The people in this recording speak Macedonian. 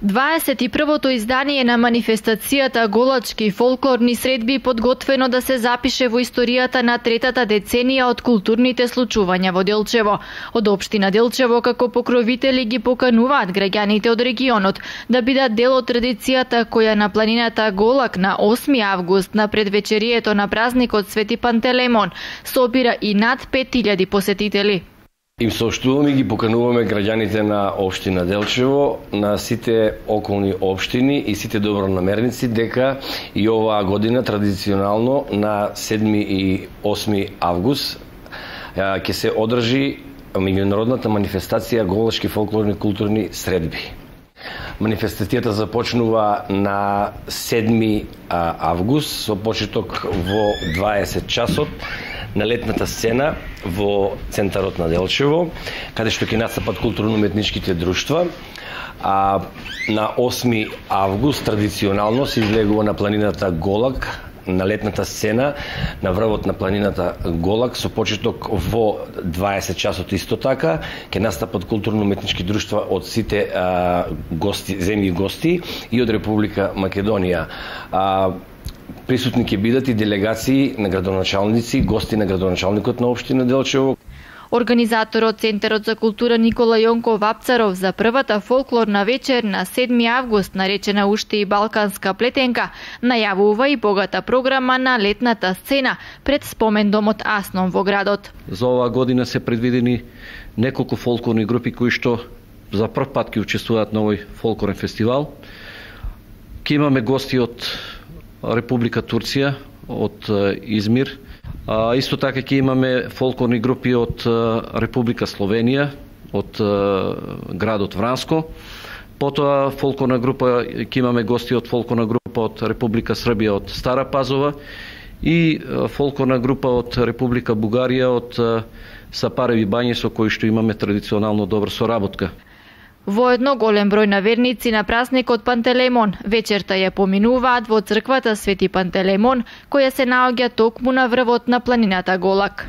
21-то издание на манифестацијата Голачки фолклорни средби подготвено да се запише во историјата на третата деценија од културните случувања во Делчево. Од општина Делчево како покровители ги покануваат граѓаните од регионот да бидат дел од традицијата која на планината Голак на 8 август на предвечерието на празникот Свети Пантелеймон собира и над 5000 посетители. Им соопштуваме и ги покануваме граѓаните на општина Делчево, на сите околни општини и сите добронамерници дека и оваа година традиционално на 7 и 8 август ќе се одржи меѓународната манифестација Голачки фолклорни културни средби. Манифестацијата започнува на 7 август со почеток во 20 часот на летната сцена во центарот на Делчево, каде што ќе настапат културно-уметничките друштва. А на 8 август традиционално се излегува на планината Голак, на летната сцена на врвот на планината Голак со почеток во 20 часот исто така ќе настапат културно-уметнички друштва од сите земји гости и од Република Македонија. Присутни ќе бидат и делегации на градоначалници, гости на градоначалникот на општина Делчево. Организаторот Центарот за култура Никола Јонков Вапцаров за првата фолклорна вечер на 7 август, наречена уште и Балканска плетенка, најавува и богата програма на летната сцена пред спомендомот Асном во градот. За оваа година се предвидени неколку фолклорни групи кои што за прв пат ќе учествуваат на овој фолклорен фестивал. Ќе имаме гости од Република Турција, од Измир. Исто така ќе имаме фолклорни групи од Република Словенија, од градот Вранско. Потоа фолклорна група ќе имаме гости од фолклорна група од Република Србија, од Стара Пазова и фолклорна група од Република Бугарија, од Сапареви бањи со кои што имаме традиционално добра соработка. Воедно голем број на верници на празникот Пантелеймон вечерта ја поминуваат во црквата Свети Пантелеймон, која се наоѓа токму на врвот на планината Голак.